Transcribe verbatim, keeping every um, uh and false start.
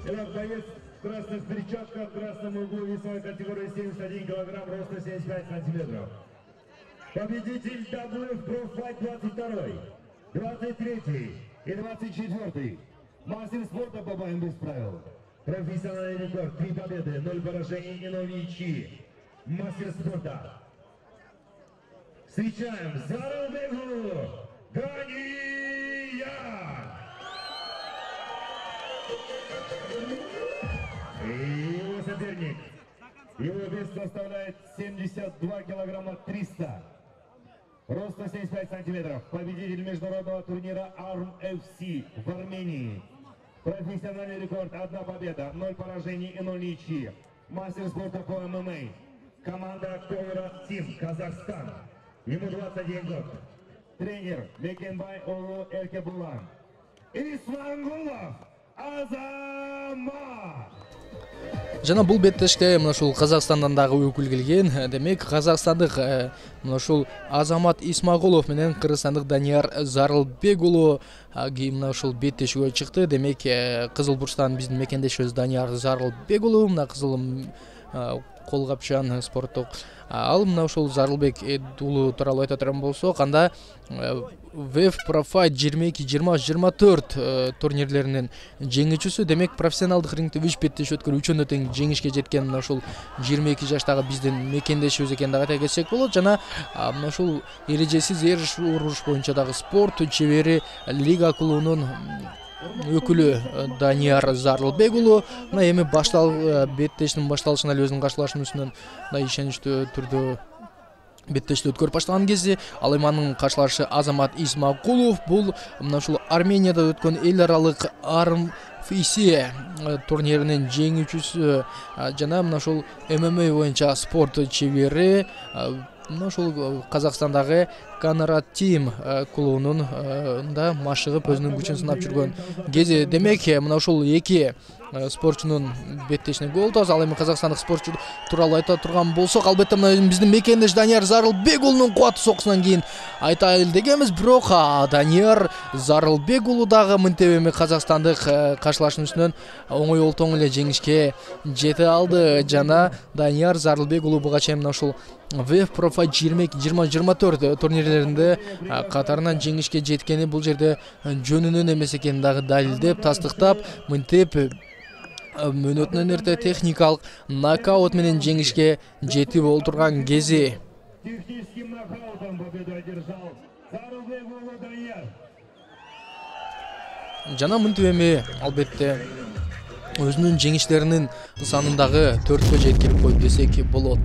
Итак, боец в красных перчатках, в красном углу весовой категории семьдесят один килограмм, роста семьдесят пять сантиметров. Победитель дабл ю эф Pro Fight двадцать второй, двадцать третий и двадцать четвёртый. Мастер спорта по боям без правил. Профессиональный рекорд, три победы, ноль поражений и ноль ничьи. Мастер спорта. Встречаем Заралбегу Дания! И его соперник. Его вес составляет семьдесят два килограмма триста. Роста семьдесят пять сантиметров. Победитель международного турнира арм эф си в Армении. Профессиональный рекорд, одна победа, ноль поражений и ноль ничьи. Мастер спорта по эм эм а. Команда Ковера Тим, Казахстан. Ему двадцать один год. Тренер Бекенбай Олу Эркебулан. Исмангулов Азамат. Жана бул беттешке мына ушул Казакстандан дагы өкүл келген. Демек казакстандык мына ушул Азамат Исмагулов менен кыргызстандык Данияр Зарылбек уулу мына ушул беттешүүгө чыкты. Демек Кызыл бурчтан биздин мекендешибиз Данияр Зарылбек уулу мына кызыл колгапчан спорттук. Ал мына ушул Зарылбек уулу тууралуу айта турган болсок, анда ви эф Pro Fight жыйырма эки жыйырма жыйырма төрт турнирлеринин жеңүүчүсү. Демек профессионалдык рингде үч беттеш өткөрүп үчөөнө тең жеңишке жеткен мына ушул жыйырма эки жаштагы биздин мекендешибиз экенин дагы айта кетсек болот. Жана мына ушул эрежесиз эр уруш боюнча дагы спорт чебери Лига клубунун өкүлү Данияр Зарылбек уулу мына эми баштал беттештин башталышына эле өзүнүн каршылашын үстүнөн мына ишеничтүү түрдө беттешти өткөрүп баштаган кезде ал эми анын каршылашы Азамат Исмагулов бул мына ушул Арменияда өткөн эл аралык арм эф си турниринин жеңүүчүсү жана мына ушул эм эм а боюнча спорт чебери мына ушул Казакстандагы Канарат Тим клубунун да машыгып өзүнүн күчүн сынап жүргөн кези. Демек мына ушул эки спортчунун беттешине гол тооз. Ал эми казакстандык спортчу тууралуу айта турган болсок, албетте мына биздин мекендеш Данияр Зарылбек уулунун кубаттуу сокусунан кийин айтайлы дегенбиз. Бирок Данияр Зарылбек уулу дагы мынтип эми казакстандык каршылашын үстүнөн оңой олтоң эле жеңишке жете алды. Жана Данияр Зарылбек уулу буга чейин мына ушул ви эф Pro Fight жыйырма эки жыйырма жыйырма төрт турнирлеринде катарынан жеңишке жеткени бул жерде жөнүнөн эмес экенин дагы далилдеп, тастыктап, мынтип мөөнөтүнөн эрте техникалык нокаут менен жеңишке жетип олтурган кези. Техническим нокаутом победу одержал Зарылбек уулу Данияр. Жана мынтип эми албетте өзүнүн жеңиштеринин санын дагы төрткө жеткирип коюп десек болот.